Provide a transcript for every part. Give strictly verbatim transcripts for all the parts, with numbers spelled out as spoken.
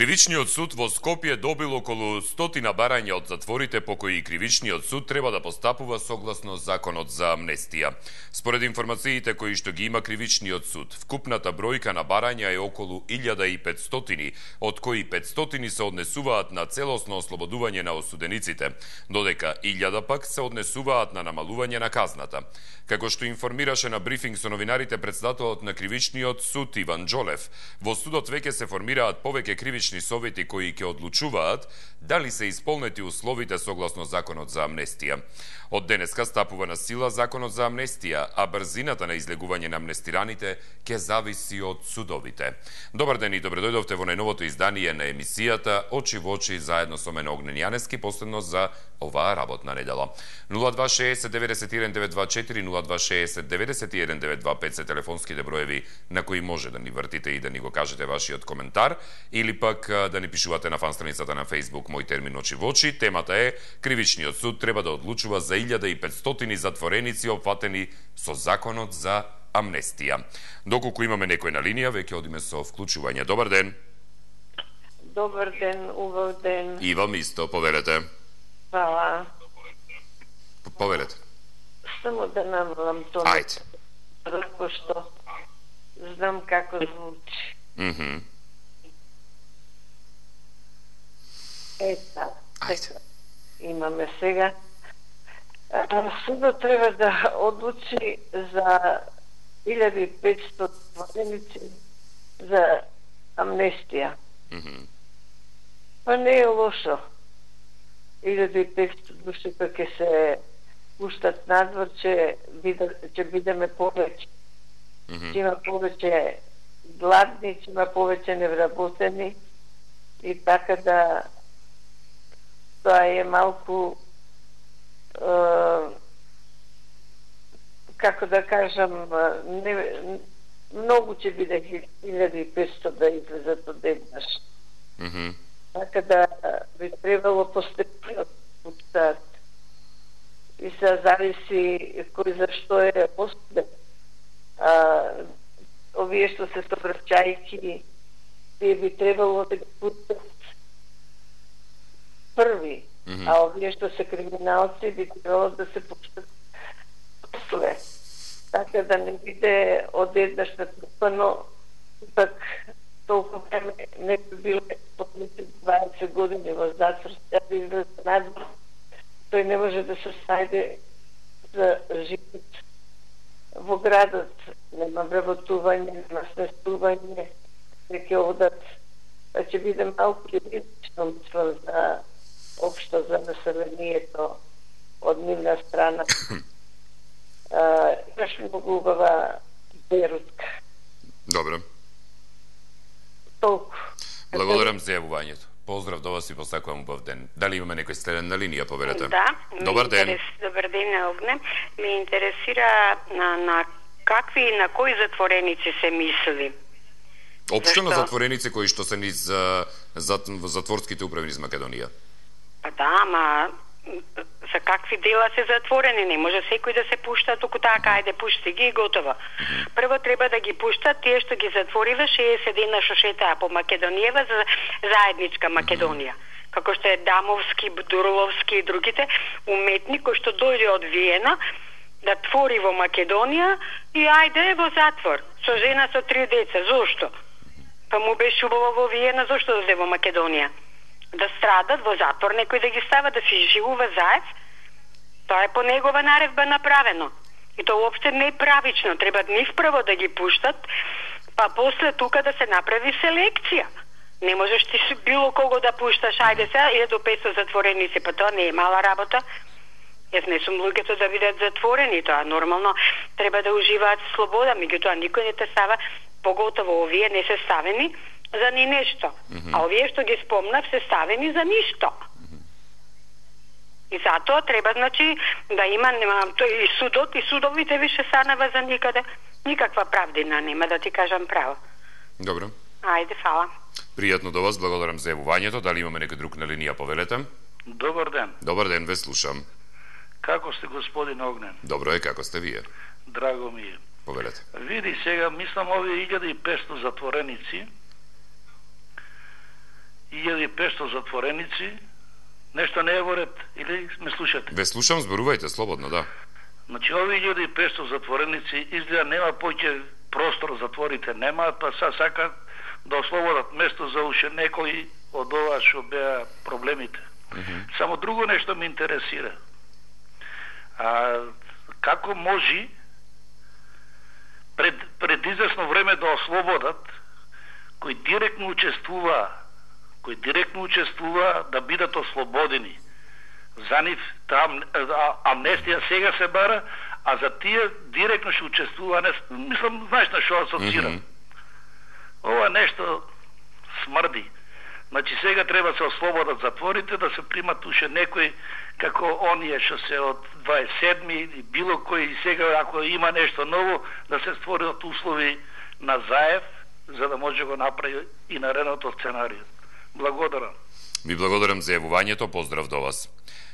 Кривичниот суд во Скопје добил околу стотина барања од затворите по кои Кривичниот суд треба да постапува согласно законот за амнестија. Според информациите кои што ги има Кривичниот суд, вкупната бројка на барања е околу илјада и петстотини, од кои петстотини се однесуваат на целосно ослободување на осудениците, додека илјада пак се однесуваат на намалување на казната. Како што информираше на брифинг со новинарите председателот на Кривичниот суд Иван Џолев, во судот веќе се формираат повеќе кривични совети кои ќе одлучуваат дали се исполнети условите согласно законот за амнестија. Од денеска стапува на сила законот за амнестија, а брзината на излегување на амнестираните ќе зависи од судовите. Добар ден и добредојдовте во најновото издание на емисијата Очи во очи заедно со мене Огнен Јанески, последно за оваа работна недела. нула два шеесет деветдесет и еден девет два четири, нула два шеесет деветдесет и еден девет два пет се телефонските броеви на кои може да ни вртите и да ни го кажете вашиот коментар, или пак да ни пишувате на фан страницата на Facebook Мој термин Очи во очи. Темата е: Кривичниот суд треба да одлучува за илјада и петстотини затвореници опфатени со законот за амнестија. Доколку имаме некој на линија, веќе одиме со вклучување. Добар ден. Добар ден, убав ден. И вам исто, поверете. Хвала. Поверете. Само да намалам тоа. Ајде. Рако што знам како звучи. Мхм. Mm-hmm. Ета. Ајде. Имаме сега. Судот треба да одлучи за илјада и петстотини затвореници за амнестија. Мхм. Mm-hmm. Па не е лошо. илјада и петстотини души па ќе се пуштат надвор, че, биде, че бидеме повеќе. Mm-hmm. Че има повеќе гладни, че има повеќе невработени и така да тоа е малку е, како да кажам, не, многу ќе биде илјада и петстотини да излезат одеднаш. Мхм. Така да би требало постепено пуштат. И се зависи кој зашто е осуден. А, овие што се совраќајки, тие би требало да ги пуштат први, Mm-hmm. а овие што се криминалци би требало да се пуштат после. Така да не биде одеднаш натрупано, пак толку време не би било дваесет години во затвор, да би излезе надвор, тој не може да се снајде за живот во градот. Нема вработување, нема сместување, не ќе одат. Па ќе биде малку ризично, мислам, за општо за населението од нивна страна. А, имаш многу убава берутка. Добро. Толку. Благодарам за јавувањето. Поздрав до вас и посакувам убав ден. Дали имаме некој следен на линија, поверете? Да. Добар ден. Интерес, добар ден, Огне. Ме интересира на, на какви и на кои затвореници се мисли. Општо на Зашто? затвореници кои што се низ за, за, затворските управи низ Македонија. Па да, ама за какви дела се затворени? Не може секој да се пушта току така, ајде пушти ги и готово. Mm-hmm. Прво треба да ги пуштат тие што ги затворила шеесет дена што шетаа по Македонијава за заедничка Македонија. Mm-hmm. Како што е Дамовски, Дурловски и другите уметни кои што дојде од Виена да твори во Македонија и ајде во затвор со жена со три деца. Зошто? Па му беше убаво во Виена, зошто да оде во Македонија? Да страдат во затвор, некој да ги става да си живува заед. Тоа е по негова наредба направено. И тоа уопште не е правично. Треба нив прво да ги пуштат, па после тука да се направи селекција. Не можеш ти било кого да пушташ, ајде сега, илјада и петстотини затвореници, па тоа не е мала работа. Јас не сум луѓето да бидат затворени, тоа нормално треба да уживаат слобода, меѓутоа никој не те става, поготово овие не се ставени за ни нешто. Mm-hmm. А овие што ги спомнав се ставени за ништо. Mm-hmm. И затоа треба, значи, да има, нема, тој и судот, и судовите више станава за никаде. Никаква правдина нема, да ти кажам право. Добро. Ајде, фала. Пријатно до вас, благодарам за јавувањето. Дали имаме некој друг на линија, повелете? Добар ден. Добар ден, ве слушам. Како сте, господин Огнен? Добро е, како сте вие? Драго ми е. Повелете. Види сега, мислам, овие илјада и петстотини затвореници илјада и петсто затвореници, нешто не е во ред, или ме слушате? Ве слушам, зборувајте слободно, да. Значи, овие илјада и петсто затвореници изгледа нема поќе простор, затворите немаат, па са сакат да ослободат место за уште некои од ова што беа проблемите. Mm-hmm. Само друго нешто ме интересира. А, како може пред, пред известно време да ослободат кои директно учествува кои директно учествува да бидат ослободени. За нив там амнестија сега се бара, а за тие директно ќе учествува, не, мислам, знаеш на што асоцирам. Mm-hmm. Ова нешто смрди. Значи сега треба се ослободат затворите, да се примат уште некои како оние што се од дваесет и седми или било кој, сега ако има нешто ново, да се створат услови на заев, за да може го направи и наредното сценарио. Благодарам. Ви благодарам за јавувањето, поздрав до вас.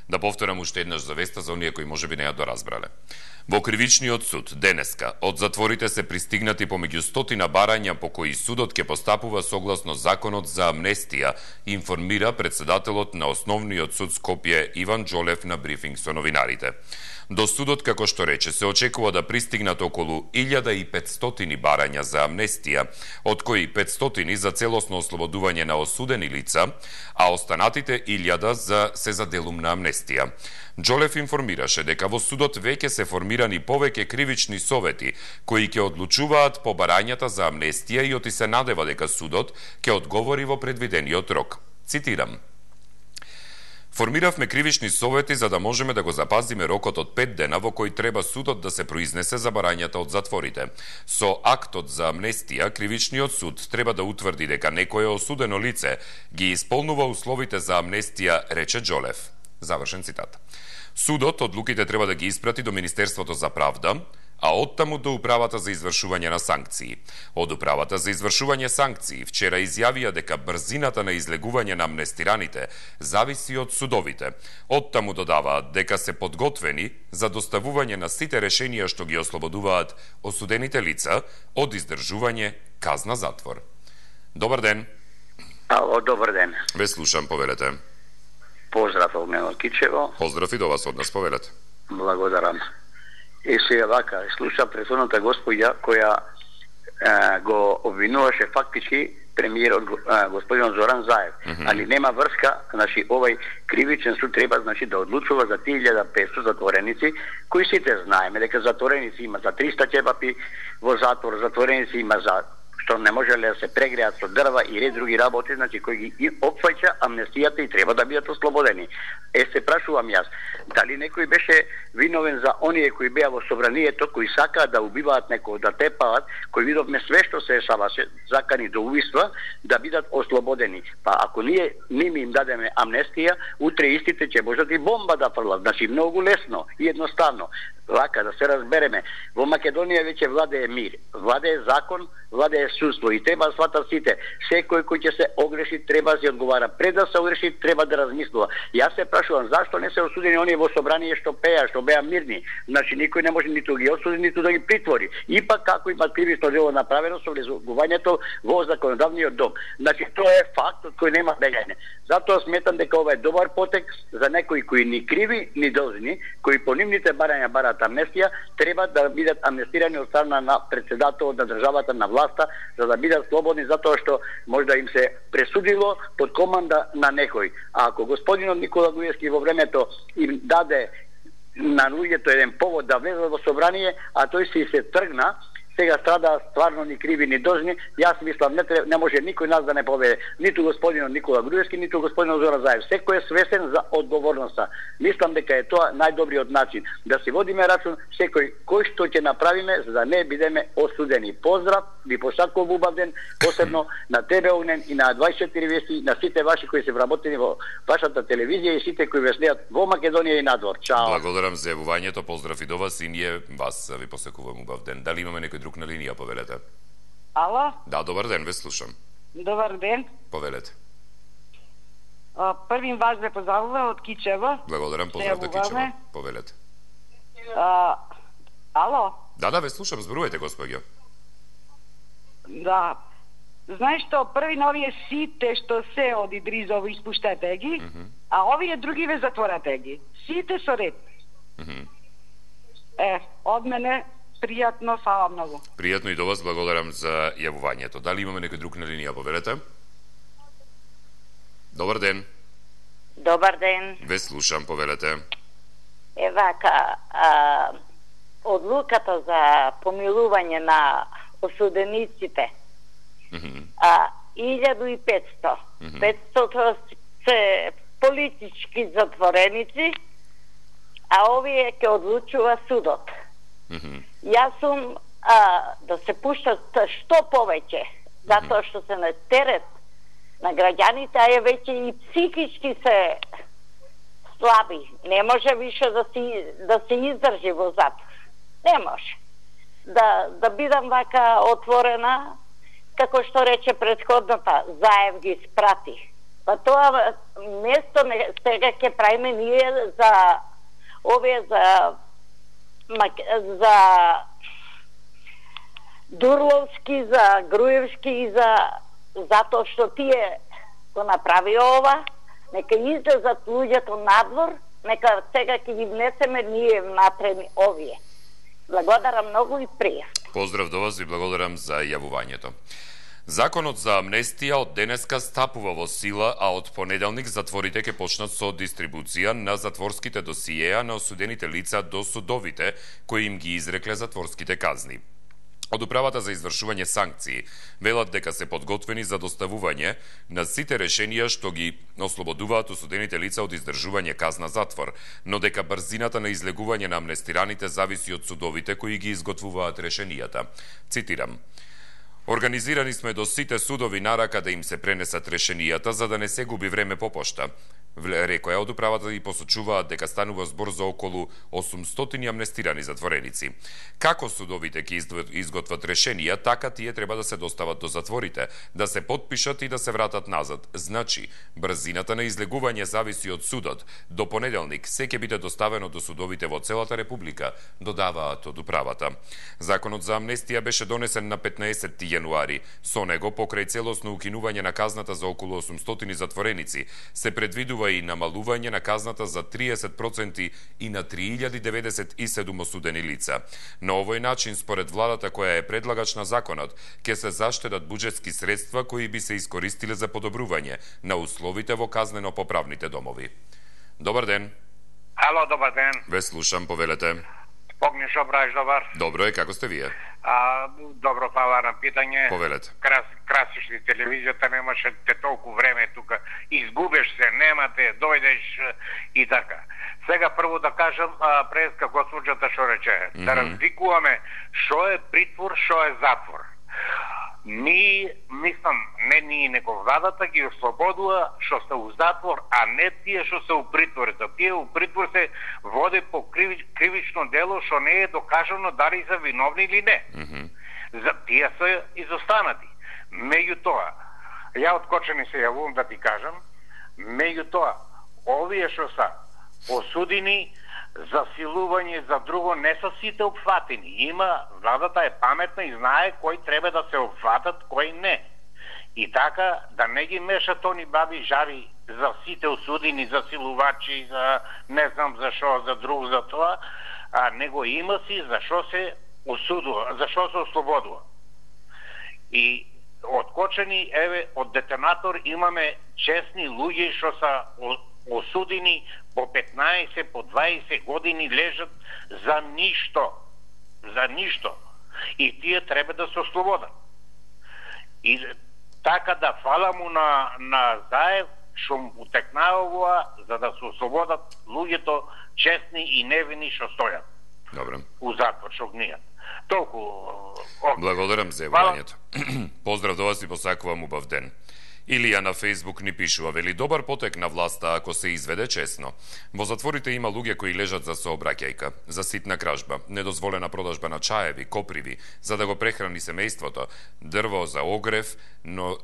Да повторам уште еднаш за веста за оние кои можеби не ја доразбрале. Во Кривичниот суд денеска од затворите се пристигнати помеѓу стотина барања по кои судот ќе постапува согласно законот за амнестија, информира председателот на Основниот суд Скопје Иван Џолев на брифинг со новинарите. До судот, како што рече, се очекува да пристигнат околу илјада и петстотини барања за амнестија, од кои петстотини за целосно ослободување на осудени лица, а останатите илјада за се за делумна амнестија. Џолев информираше дека во судот веќе се формирани повеќе кривични совети кои ќе одлучуваат по барањата за амнестија и оти се надева дека судот ќе одговори во предвидениот рок. Цитирам: Формиравме кривични совети за да можеме да го запазиме рокот од пет дена во кој треба судот да се произнесе за барањата од затворите. Со актот за амнестија, кривичниот суд треба да утврди дека некое осудено лице ги исполнува условите за амнестија, рече Џолев. Завршен цитат. Судот одлуките треба да ги испрати до Министерството за правда, а оттаму до Управата за извршување на санкции. Од Управата за извршување санкции вчера изјавија дека брзината на излегување на амнестираните зависи од судовите. Оттаму додаваат дека се подготвени за доставување на сите решенија што ги ослободуваат осудените лица од издржување казна затвор. Добар ден. Ало, добар ден. Ве слушам, повелете. Поздрав од мене од Кичево. Поздрав и до вас од нас, повелете. Благодарам. И сега вака, слуша претходната господја која е, го обвинуваше фактички премиерот е, господин Зоран Заев, mm-hmm. али нема врска, значи овај кривичен суд треба значи да одлучува за три илјади и петсто затвореници, кои сите знаеме дека затвореници има за триста ќебапи во затвор, затвореници има за што не можеле да се прегреат со дрва и ред други работи, значи кои ги опфаќа амнестијата и треба да бидат ослободени. Е, се прашувам јас, дали некој беше виновен за оние кои беа во собранието, кои сакаат да убиваат некој, да тепаат, кои видовме све што се ешаваше, закани до убиства, да бидат ослободени. Па ако ние ними им дадеме амнестија, утре истите ќе можат и бомба да фрлат. Значи многу лесно и едноставно. Вака, да се разбереме, во Македонија веќе владее мир, владее закон, владее судство и треба да сватат сите. Секој кој ќе се огреши треба да се одговара. Пред да се огреши треба да размислува. Јас се прашувам зашто не се осудени оние во собрание што пеа, што беа мирни. Значи никој не може ниту ги осуди, ниту да ги притвори. Ипак како има кривично дело направено со влезувањето во законодавниот дом. Значи тоа е факт од кој нема бегање. Затоа сметам дека ова е добар потек за некои кои ни криви, ни должни, кои по нивните барања бараат амнестија, треба да бидат амнестирани од страна на председателот на државата, на власта, за да бидат слободни затоа што може да им се пресудило под команда на некој. А ако господинот Никола Груевски во времето им даде на луѓето еден повод да влезат во собрание, а тој си се тргна, сега страда стварно ни криви ни должни, јас мислам не, не може никој нас да не победе, ниту господинот Никола Груевски, ниту господинот Зоран Заев. Секој е свесен за одговорноста. Мислам дека е тоа најдобриот начин да си водиме рачун секој кој што ќе направиме за да не бидеме осудени. Поздрав, ви посакувам убав ден, посебно на тебе Огнен и на дваесет и четири вести, на сите ваши кои се вработени во вашата телевизија и сите кои ве следат во Македонија и надвор. Чао. Благодарам за јавувањето, поздрав и до вас и ние вас ви посакувам убав ден. Дали имаме некој друг на линија, повелете? Ало? Да, добар ден, ве слушам. Добар ден. Повелете. А, првим вас ве поздравувам од Кичево. Благодарам, поздрав до Кичево. Повелете. А, ало? Да, да, ве слушам, зборувајте, господјо. Да. Знаеш што, први на овие сите што се од Идризово испуштете ги, mm -hmm. а овие други ве затворате ги. Сите со ред. Mm -hmm. Е, од мене пријатно, фала многу. Пријатно и до вас, благодарам за јавувањето. Дали имаме некој друг на линија, повелете? Добар ден. Добар ден. Ве слушам, повелете. Е вака, а, одлуката за помилување на осудениците, mm -hmm. а, илјаду и петсто. Mm -hmm. петсто се политички затвореници, а овие ќе одлучува судот. Mm -hmm. Јас сум а, да се пуштат што повеќе, затоа што се на терет на граѓаните, а е веќе и психички се слаби. Не може више да си да се издржи во затвор. Не може. Да да бидам вака отворена, како што рече претходната, Заев ги спрати. Па тоа место не, сега ќе правиме ние за овие за за Дурловски, за Груевски и за затоа што тие го направи ова, нека излезат луѓето надвор, нека сега ќе ги внесеме ние внатре овие. Благодарам многу и пријатно. Поздрав до вас и благодарам за јавувањето. Законот за амнестија од денеска стапува во сила, а од понеделник затворите ќе почнат со дистрибуција на затворските досиеа на осудените лица до судовите кои им ги изрекле затворските казни. Од Управата за извршување санкции велат дека се подготвени за доставување на сите решенија што ги ослободуваат осудените лица од издржување казна затвор, но дека брзината на излегување на амнестираните зависи од судовите кои ги изготвуваат решенијата. Цитирам: "Организирани сме до сите судови нарака да им се пренесат решенијата за да не се губи време по пошта", рекоја од Управата и посочуваат дека станува збор за околу осумстотини амнестирани затвореници. Како судовите ќе изготват решенија, така тие треба да се достават до затворите, да се подпишат и да се вратат назад. Значи, брзината на излегување зависи од судот. До понеделник се ќе биде доставено до судовите во целата република, додаваат од Управата. Законот за амнестија беше донесен на петнаесетти јануари. Со него, покрај целосно укинување на казната за околу осумстотини затвореници, се предвидува и намалување на казната за триесет проценти и на три илјади деветдесет и седум осудени лица. На овој начин, според владата која е предлагач на законот, ќе се заштедат буџетски средства кои би се искористиле за подобрување на условите во казнено-поправните домови. Добар ден. Ало, добар ден. Ве слушам, повелете. Погни шо браеш, добар. Добро е, како сте вие? А, добро, фала на питање. Повелете. Крас, красиш ли телевизијата, немаше те толку време тука. Изгубеш се, немате, дојдеш и така. Сега прво да кажам, а, преска госпоđата шо рече. Mm -hmm. Да разликуваме шо е притвор, шо е затвор. Ми, мислам, не ние него владата ги ослободува што се у затвор, а не тие што се у притвор. За тие у притвор се води по криви, кривично дело што не е докажано дали се виновни или не. Mm -hmm. За тие се изостанати. Меѓутоа, ја откочени се јавувам да ти кажам, меѓутоа, овие што са осудени за силување, за друго, не са сите опфатени. Има, владата е паметна и знае кои треба да се опфатат, кои не. И така, да не ги мешат они баби жари за сите осудени, за силувачи, за не знам за шо, за друг, за тоа, а него има си за шо се осудува, за шо се ослободува. И откочени, еве, од детонатор имаме честни луѓе што са осудени по петнаесет, по дваесет години лежат за ништо. За ништо. И тие треба да се ослободат. И така да фала му на, на Заев, што му утекнава за да се ослободат луѓето честни и невини што стојат. Добре. У затвор, што гнијат. Толку... Благодарам за јавувањето. Поздрав до вас и посакувам убав ден. Илија на Фејсбук ни пишува, вели: добар потек на власта ако се изведе честно. Во затворите има луѓе кои лежат за сообраќајка, за ситна кражба, недозволена продажба на чаеви, коприви, за да го прехрани семејството, дрво за огрев, но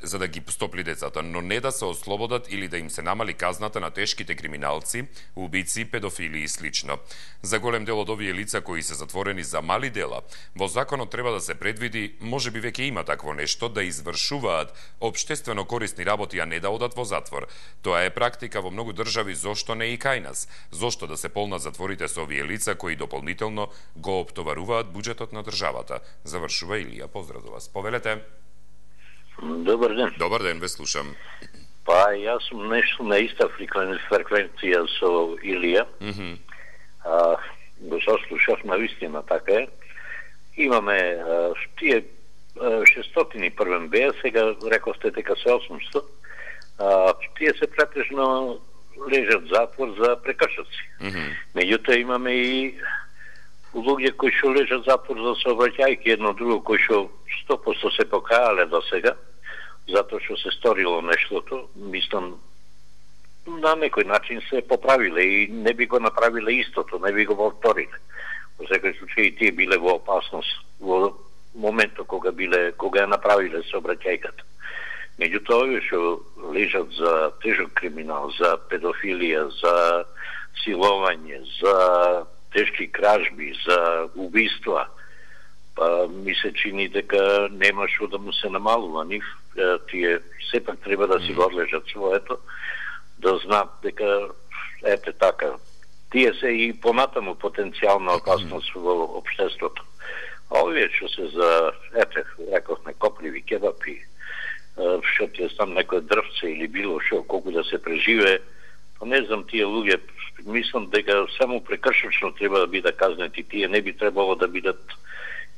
за да ги стопли децата, но не да се ослободат или да им се намали казната на тешките криминалци, убици, педофили и слично. За голем дел од овие лица кои се затворени за мали дела, во законот треба да се предвиди, може би веќе има такво нешто, да извршуваат општествено корисни работи, а не да одат во затвор. Тоа е практика во многу држави, зошто не и кај нас? Зошто да се полнат затворите со овие лица кои дополнително го оптоваруваат буџетот на државата? Завршува Илија. Поздрав до вас. Повелете. Добар ден. Добар ден, ве слушам. Па, јас сум нешто на иста фреквенција со Илија. Mm -hmm. а, го сослушав на вистина, така е. Имаме а, тие шестстотини првен беа, сега рекосте дека се осумсто. А, тие се претежно лежат затвор за прекршоци. Mm -hmm. Меѓутоа имаме и луѓе кои што лежат затвор за сообраќајки едно друго, кои што сто проценти се покаале до сега, затоа што се сторило нештото, мислам, на некој начин се поправиле и не би го направиле истото, не би го повториле. Во секој случај и тие биле во опасност во моментот кога биле, кога ја направиле сообраќајката. Меѓутоа, овие што лежат за тежок криминал, за педофилија, за силовање, за тешки кражби, за убиства, па ми се чини дека нема што да му се намалува нив. Тие сепак треба да си го одлежат своето, да знаат дека ете така. Тие се и понатаму потенцијална опасност во општеството. А овие што се за, ете, рекохме, копливи кебапи, што ти е сам некој дрвце или било што, колку да се преживее, па не знам, тие луѓе, мислам дека само прекршочно треба да бидат казнети, тие не би требало да бидат,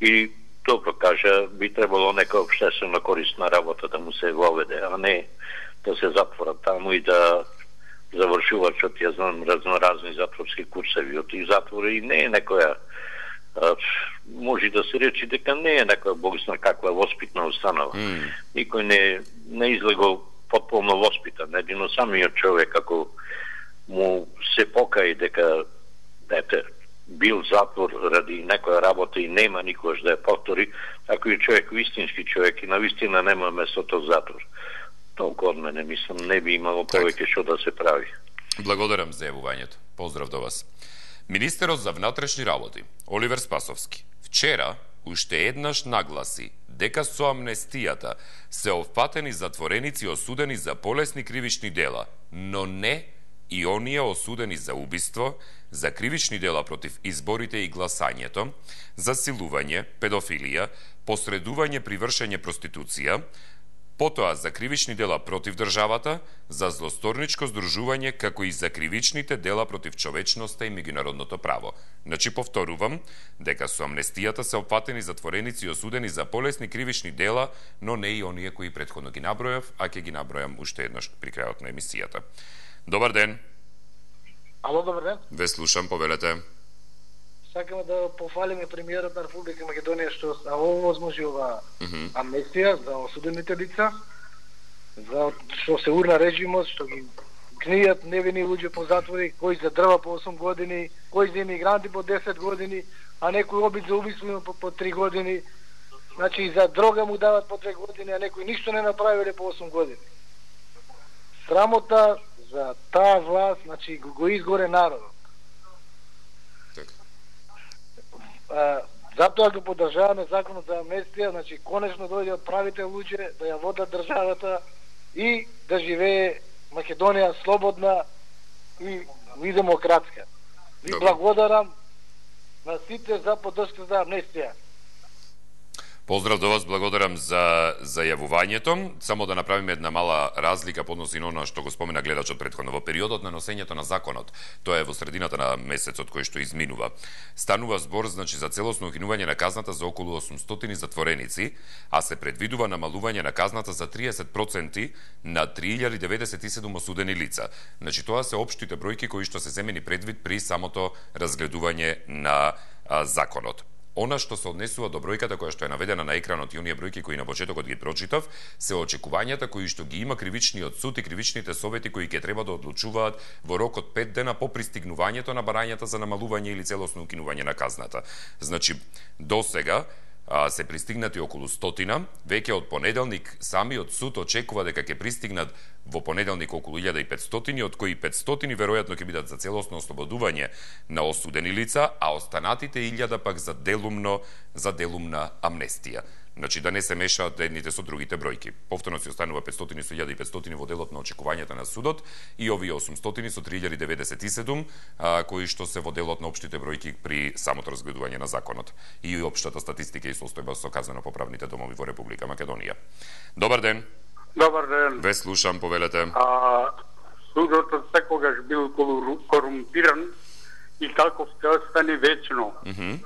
и добро кажа, би требало нека општествено корисна работа да му се воведе, а не да се затворат таму и да завршуваат, што ти ја знам, разноразни затворски курсеви. Од тие затвори и не е некоја, може да се речи дека не е некоја богсна каква воспитна установа. Mm. Никој не, не излего потполно воспитан. Едино самиот човек, ако му се покаи дека ете, бил затвор ради некоја работа и нема никош да ја повтори, ако е човек вистински човек и навистина нема местото затвор. Толку од мене, мислам, не би имало повеќе што да се прави. Благодарам за јавувањето. Поздрав до вас. Министерот за внатрешни работи, Оливер Спасовски, вчера уште еднаш нагласи дека со амнестијата се опфатени затвореници осудени за полесни кривични дела, но не и оние осудени за убиство, за кривични дела против изборите и гласањето, за силување, педофилија, посредување при вршење проституција, потоа за кривични дела против државата, за злосторничко здружување, како и за кривичните дела против човечноста и меѓународното право. Значи, повторувам, дека со амнестијата се опфатени затвореници осудени за полесни кривични дела, но не и оние кои претходно ги набројав, а ќе ги набројам уште еднаш при крајот на емисијата. Добар ден. Ало, добар ден. Ве слушам, повелете. Сакаме да пофалиме премиерот на Република Македонија што овозможи ова mm -hmm. амнестија за осудените лица, за што се урна режимот, што ги книјат невини луѓе по затвори, кои за дрва по осум години, кои за имигранти по десет години, а некој обид за убиство по, по три години, значи и за дрога му дават по три години, а некои ништо не направиле по осум години. Срамота за таа власт, значи го, го изгоре народот. А, затоа го поддржаваме законот за амнестија, значи конечно дојде од правите луѓе да ја водат државата и да живее Македонија слободна и, и демократска. Ви благодарам на сите за поддршка за амнестија. Поздрав до вас, благодарам за, за јавувањето. Само да направиме една мала разлика по односи на она што го спомена гледачот претходно. Во периодот на носењето на законот, тоа е во средината на месецот кој што изминува, станува збор, значи, за целосно укинување на казната за околу осумстотини затвореници, а се предвидува намалување на казната за триесет проценти на три илјади деветдесет и седум осудени лица. Значи, тоа се општите бројки кои што се земени предвид при самото разгледување на а, законот. Она што се однесува до бројката која што е наведена на екранот и оние бројки кои на почетокот ги прочитав, се очекувањата кои што ги има кривичниот суд и кривичните совети кои ќе треба да одлучуваат во рок од пет дена по пристигнувањето на барањата за намалување или целосно укинување на казната. Значи, до сега а, се пристигнати околу стотина, веќе од понеделник самиот суд очекува дека ќе пристигнат во понеделник околу илјада и петстотини, од кои петстотини веројатно ќе бидат за целосно ослободување на осудени лица, а останатите илјада пак за делумно за делумна амнестија. Значи да не се мешаат едните со другите бројки. Повторно си останува петстотини со илјада и петстотини во делот на очекувањата на судот и овие осумстотини со три илјади деветдесет и седум а, кои што се во делот на општите бројки при самото разгледување на законот и општата статистика и состојба со казнено-поправните домови во Република Македонија. Добар ден. Добар ден. Ве слушам, повелете. А, судот секогаш бил корумпиран и таков ќе остане вечно. Mm -hmm.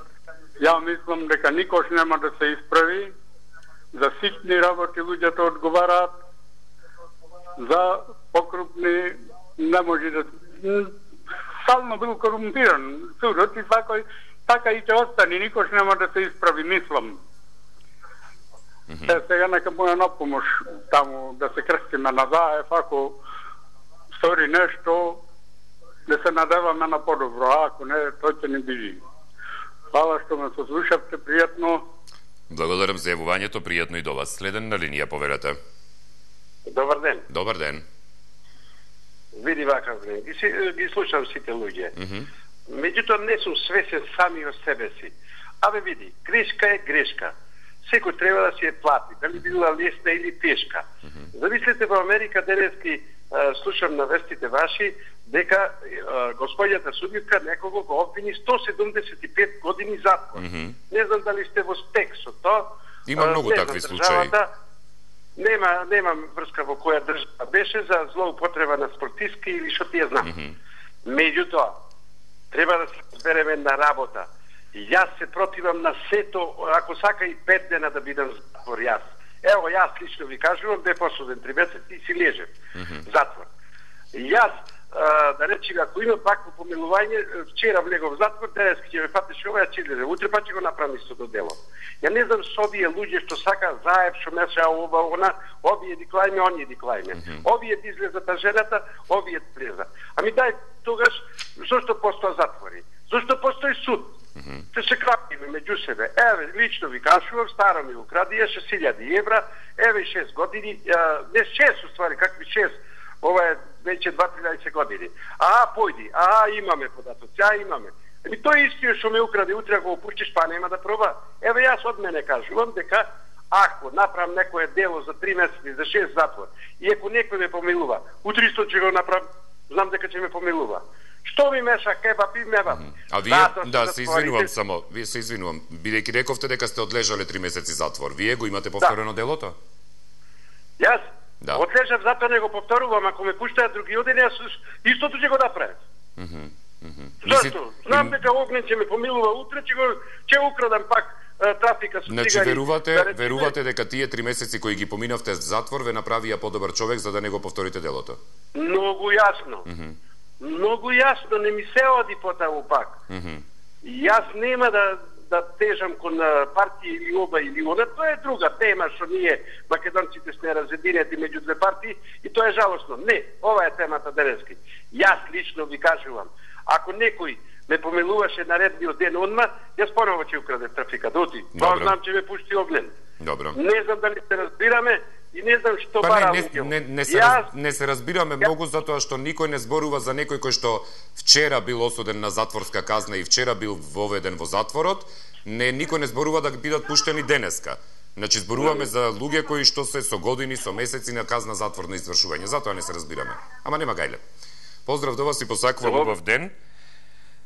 Ја мислам дека никош нема да се исправи. За ситни работи луѓето одговараат, за покрупни не може да... Стално бил корумпиран судот и така, така и ќе остане, никош нема да се исправи, мислам. Mm -hmm. Е, сега нека моја напомош таму да се крстиме на заев, ако стори нешто, да се надеваме на подобро, а ако не, тој ќе не биде. Хвала што ме сослушавте, пријатно. Благодарам за јавувањето, пријатно и до вас. Следен на линија, повелете. Добар ден. Добар ден. Види вака, ги, си, ги слушам сите луѓе. Mm -hmm. Меѓутоа не сум свесен сами од себе си. Абе види, грешка е грешка. Секој треба да си ја плати, дали била лесна или тешка. Mm -hmm. Замислете, во Америка денески слушам на вестите ваши дека господјата судитка некого го обвини сто седумдесет и пет години затвор. Mm -hmm. Не знам дали сте во стек со тоа. Има многу такви случаи. Нема, нема врска во која држава беше за злоупотреба на спортистки или што ти ја знам. Mm -hmm. Меѓутоа, треба да се разбереме на работа. Јас се противам на сето, ако сака и пет дена да бидам затвор јас. Ево, јас лично ви кажувам, бе посуден три месеци и си лежем. Mm -hmm. Затвор. Јас, а, да речем, ако има пак помилување, вчера влегов в затвор, денески ќе ме фатиш ова, ја ќе лежем. Утре па ќе го направам истото дело. Ја не знам со овие луѓе што сака заеб, што меша ова, она, овие диклајме, оние диклајме. Mm -hmm. Овие излезата жената, овие влеза. Ами дај, тогаш, зашто постоја затвори? Зашто постои суд? Mm -hmm. Те се крапиме меѓу себе. Еве, лично ви кажувам, старо ми го крадија шест илјади евра, еве шест години, а, не шест уствари, какви шест, ова е веќе дваесет години. А, појди, а, имаме податоци, а, имаме. Еми, тој истиот што ме украде, утре го опуштиш, па нема да проба. Еве, јас од мене кажувам дека ако направам некое дело за три месеци, за шест затвор, и ако некој ме помилува, утре исто ќе го направам, знам дека ќе ме помилува. Што ми меша кебаб и мебаб? А вие, да, да се извинувам само, вие се извинувам, бидејќи рековте дека сте одлежале три месеци затвор, вие го имате повторено да. делото? Јас? Да. Одлежав, затоа не го повторувам, ако ме пуштаат други одени, јас истото ќе го направам. Mm -hmm. Mm -hmm. Зашто? Знам дека Огнен ќе ме помилува утре, ќе го ќе украдам пак а, трафика со значи, цигари. Значи верувате, да речеме... верувате дека тие три месеци кои ги поминавте затвор ве направија подобар човек за да не го повторите делото? Многу јасно. Mm -hmm. Многу јасно, не ми се оди потаму пак. Mm -hmm. Јас нема да да тежам кон партија или оба или она, тоа е друга тема што ние македонците сме разединети меѓу две партии и тоа е жалосно. Не, ова е темата денески. Јас лично ви кажувам, ако некој ме помилуваше наредниот ден одма, јас поново ќе украде трафика доти. Тоа знам че ме пушти Огнен. Добро. Не знам дали се разбираме и не знам што па бара не, не, не, не, се, јас... раз, не се разбираме ја... многу затоа што никој не зборува за некој кој што вчера бил осуден на затворска казна и вчера бил воведен во затворот, не никој не зборува да бидат пуштени денеска. Значи зборуваме за луѓе кои што се со години, со месеци на казна затворно извршување. Затоа не се разбираме. Ама нема гајле. Поздрав до вас и посакувам убав ден.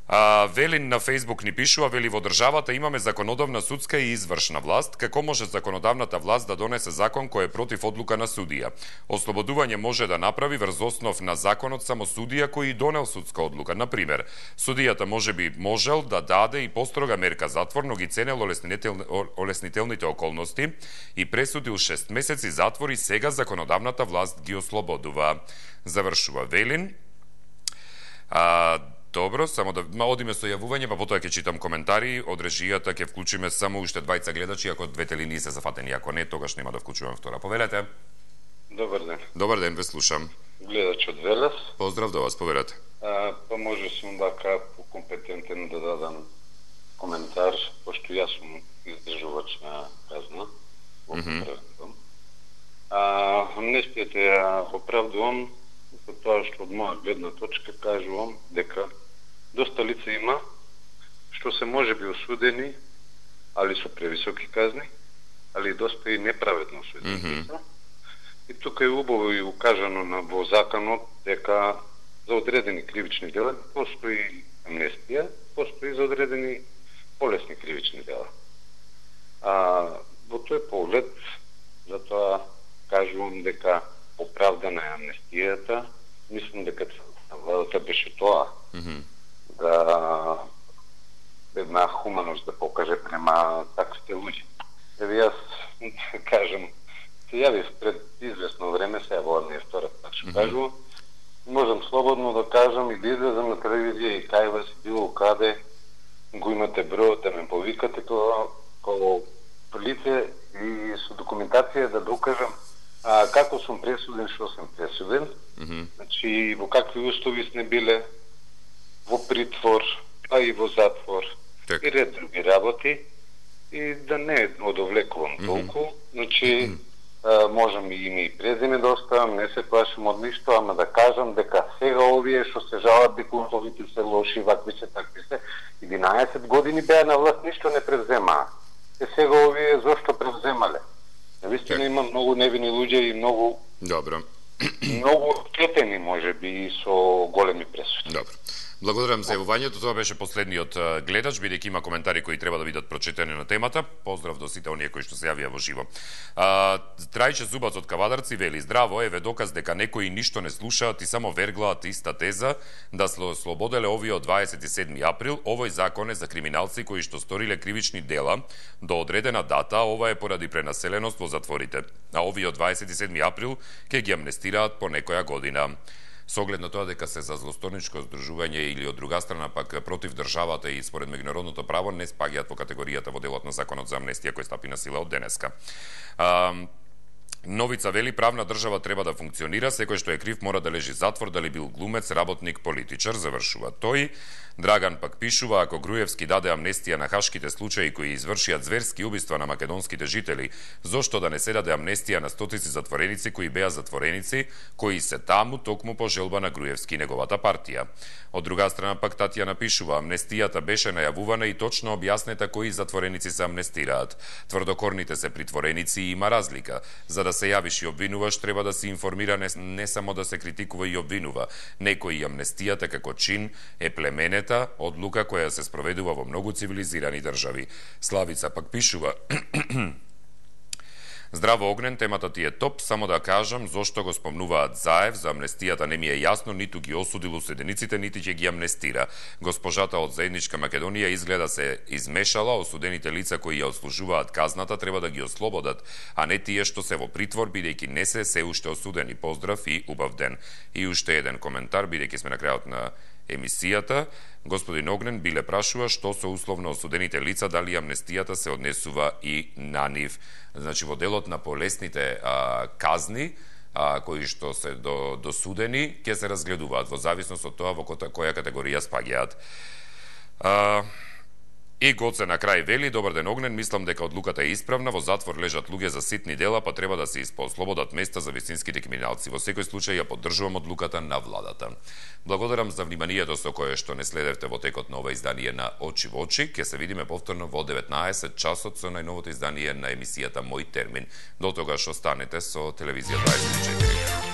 А, Велин на Фейсбук ни пишува, вели во државата имаме законодавна, судска и извршна власт. Како може законодавната власт да донесе закон кој е против одлука на судија? Ослободување може да направи врз основ на законот само судија кој донел судска одлука. Например, судијата може би можел да даде и построга мерка затвор, но ги ценел олеснител... олеснителните околности и пресудил шест месеци затвор и сега законодавната власт ги ослободува. Завршува Велин. А, Добро, само да одиме со јавување, па потоа ќе читам коментари. Од режијата ќе вклучиме само уште двајца гледачи, ако двете линии се зафатени, ако не, тогаш нема да вклучувам втора. Повелете. Добар ден. Добар ден, ве слушам. Гледач од Велес. Поздрав до вас, повелете. А, па може сум вака компетентен да дадам коментар, пошто јас сум издржувач на казна, во Мгм. mm-hmm. А, амнестијата ја оправдувам со тоа што од моја гледна точка кажувам дека доста лица има што се може би осудени, али со превисоки казни, али доста и неправедно осудени Мгм. лица. И тука е убаво и укажано на во законот дека за одредени кривични дела постои амнестија, постои за одредени полесни кривични дела. А во тој поглед, затоа кажувам дека оправдана е амнестијата, мислам дека владата беше тоа, Мгм. да една хуманост да покаже према таквите луѓе. Еве јас кажам, се јавив пред известно време, сега во не е втора пат што кажувам, можам слободно да кажам и да излезам на телевизија и кај вас и било каде го имате бројот да ме повикате како како лице и со документација да докажам а, како сум пресуден, што сум пресуден, Мгм. значи во какви услови сме биле, во притвор, а и во затвор, Така. и ред други работи, и да не одовлекувам толку, значи а, можам и име и презиме да оставам, не се плашам од ништо, ама да кажам дека сега овие што се жалат дека условите се лоши, вакви се, такви се, единаесет години беа на власт, ништо не превземаа. Е сега овие зошто превземале? Навистина има многу невини луѓе и многу Добро. многу штетени можеби и со големи пресуди. Добро. Благодарам за јавувањето. Тоа беше последниот а, гледач, бидејќи има коментари кои треба да бидат прочитани на темата. Поздрав до сите оние кои што се јавија во живо. А, Трајче Зубац од Кавадарци вели: здраво, еве доказ дека некои ништо не слушаат и само верглаат иста теза да сло слободеле овие од дваесет и седми април. Овој закон е за криминалци кои што сториле кривични дела до одредена дата, ова е поради пренаселеност во затворите. А овие од дваесет и седми април ќе ги амнестираат по некоја година. Со оглед на тоа дека се за злосторничко здружување или од друга страна пак против државата и според меѓународното право не спаѓаат во категоријата во делот на законот за амнестија кој стапи на сила од денеска. А, Новица вели: правна држава треба да функционира, секој што е крив мора да лежи затвор, дали бил глумец, работник, политичар, завршува тој. Драган пак пишува: ако Груевски даде амнестија на хашките случаи кои извршија зверски убиства на македонските жители, зошто да не се даде амнестија на стотици затвореници кои беа затвореници, кои се таму токму по желба на Груевски и неговата партија? Од друга страна пак Татјана пишува: амнестијата беше најавувана и точно објаснета кои затвореници се амнестираат. Тврдокорните се притвореници и има разлика. За да се јавиш и обвинуваш, треба да се информира, не, не само да се критикува и обвинува. Некои амнестијата како чин е племенета одлука која се спроведува во многу цивилизирани држави. Славица пак пишува: здраво Огнен, темата ти е топ, само да кажам зошто го спомнуваат Заев, за амнестијата не ми е јасно, ниту ги осудил осудениците, нити ќе ги амнестира. Госпожата од Заедничка Македонија изгледа се измешала, осудените лица кои ја отслужуваат казната треба да ги ослободат, а не тие што се во притвор, бидејќи не се се уште осудени. Поздрав и убав ден. И уште еден коментар, бидејќи сме на крајот на емисијата. Господин Огнен биле прашува што со условно осудените лица, дали амнестијата се однесува и на нив. Значи, во делот на полесните а, казни, а, кои што се до, досудени, ќе се разгледуваат во зависност од тоа во која категорија спаѓаат. А, И Гоце на крај вели: добар ден Огнен, мислам дека одлуката е исправна, во затвор лежат луѓе за ситни дела, па треба да се испослободат места за вистинските криминалци. Во секој случај ја поддржувам одлуката на владата. Благодарам за вниманието со кое што не следевте во текот на ова издание на Очи во очи. Ке се видиме повторно во деветнаесет часот со најновото издание на емисијата Мој термин. До тогаш останете со телевизија дваесет и четири.